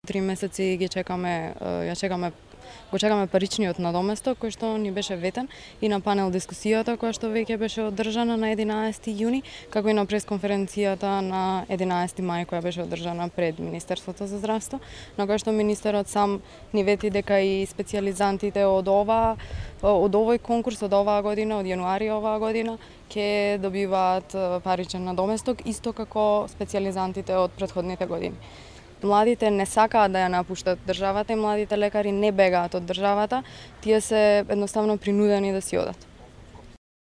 3 месеци го чекаме паричниот надоместок кој што ни беше ветен и на панел дискусијата која што веќе беше одржана на 11 јуни, како и на пресконференцијата на 11 мај која беше одржана пред Министерството за здравство, на која што министерот сам ни вети дека и специјализантите од овој конкурс од оваа година, од јануари оваа година, ќе добиваат паричен надоместок исто како специјализантите од претходните години. Младите не сакаат да ја напуштат државата и младите лекари не бегаат од државата, тие се едноставно принудени да си одат.